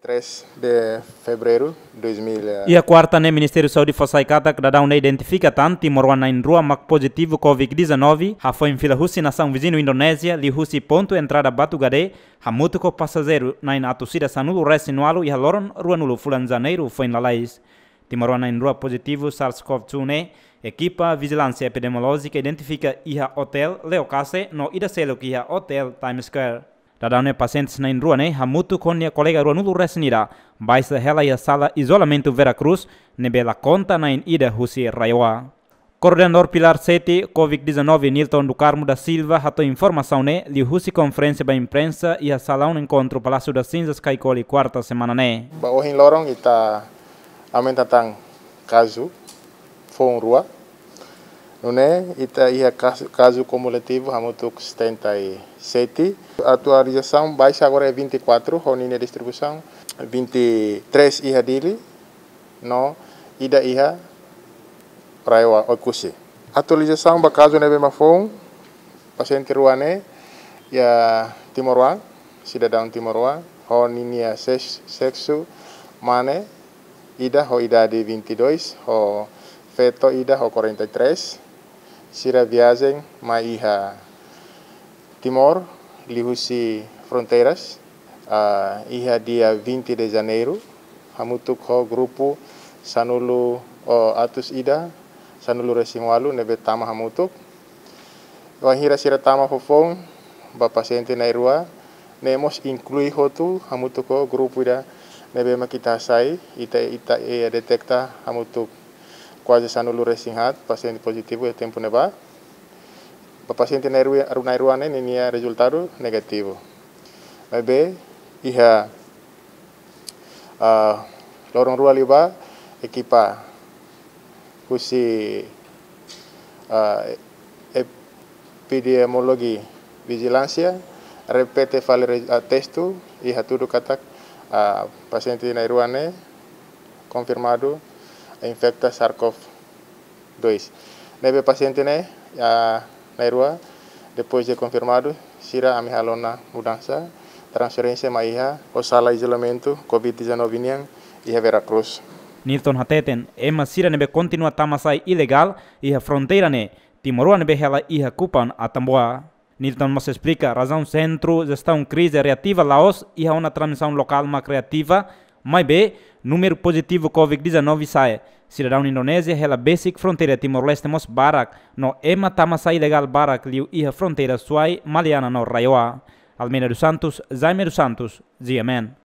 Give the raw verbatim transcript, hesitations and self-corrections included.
três de fevereiro dois mil. Iha kuarta ne'e, Ministériu Saúde fó sai katak dadaun ne'e identifika tan timoroan na'in-rua mak pozitivu COVID dezanove, hafoin fila husi nasaun viziñu Indonézia, liuhusi pontu entrada Batugade, hamutuk ho pasajeiru na'in atus ida sanulu-resin-ualu iha loron ruanulu fulan Janeiru foin lalais. Timoroan na'in-rua pozitivu SARS-CoV dua ne'e, ekipa vijilánsia epidemiolójika identifika iha Hotel Leocase no ida seluk iha Hotel Times Square. Dadaun ne'e pasiente na'in-rua ne'e hamutuk ho nia kolega ruanulu-resin-ida baixa hela iha sala izolamentu Vera Cruz, ne'ebé la konta na'in ida husi RAEOA. Koordenadór Pilar sete COVID dezanove, Nilton do Carmo da Silva, hato'o informasaun ne'e liuhusi konferénsia ba imprensa iha salaun enkontru Palácio das Cinzas, Caicoli, kuarta semana ne'e. Ba ohin loron ita aumenta tan kazu foun rua. Nune'e ita iha kazu, kazu kumulativu hamutuk setenta e sete. Atualizasaun baixa agora é vinte e quatro, ho ninia distribuisaun vinte e três iha Dili, no ida iha RAEOA Oekusi. Atualizasaun ba kazu ne'ebé mak foun, pasiente rua ne'e iha timoroan, sidadaun timoroan, ho ninia ses-, seksu mane, ida ho idade vinte e dois, ho feto ida ho quarenta e três, sira viajen mai iha Timor, liuhusi fronteiras, ah, iha dia vinte de Janeiru, hamutuk ho grupu sanulu, oh, atus ida sanulu-resin-ualu ne'ebé tama hamutuk. Wainhira sira tama foufoun, ba pasiente na'in-rua ne'e mós inklui hotu hamutuk ho grupu ida ne'ebé mak ita hasai, ita, ita, eh, deteta hamutuk kuaze sanulu-resin-haat pasiente pozitivu iha tempu ne'ebá. Ba pasiente na'in-rua, na'in-rua ne'e ninia rezultadu negativu. Maibé iha, ah, loron rua liubá, ekipa husi, ah, epidemiologi vijilánsia repete fali re-, ah, testu i hatudu katak, ah, pasiente na'in-rua ne'e konfirmadu infekta SARS-CoV dois. Ne'ebé pasiente ne'e, ah, na'in-rua, depois de konfirmadu, sira ami halo ona mudansa, transferénsia mai iha ho sala izolamentu COVID dezanove nian iha Vera Cruz. Nilton hateten, ema sira ne'ebé kontinua tama sai ilegál iha fronteira ne'e timoroan ne'ebé hela iha Kupang Atambua. Nilton mós esplika razaun Sentru Jestaun Krize reativa la'ós iha ona transmisaun lokál mak reativa, maibé númeru pozitivu COVID dezanove sa'e, sidadaun Indonézia hela besik fronteira Timor-Leste mós barak, no ema tama sai ilegál barak liu iha fronteira Suai, Maliana no RAEOA. Almeida dos Santos, Jaime dos Santos, G M N.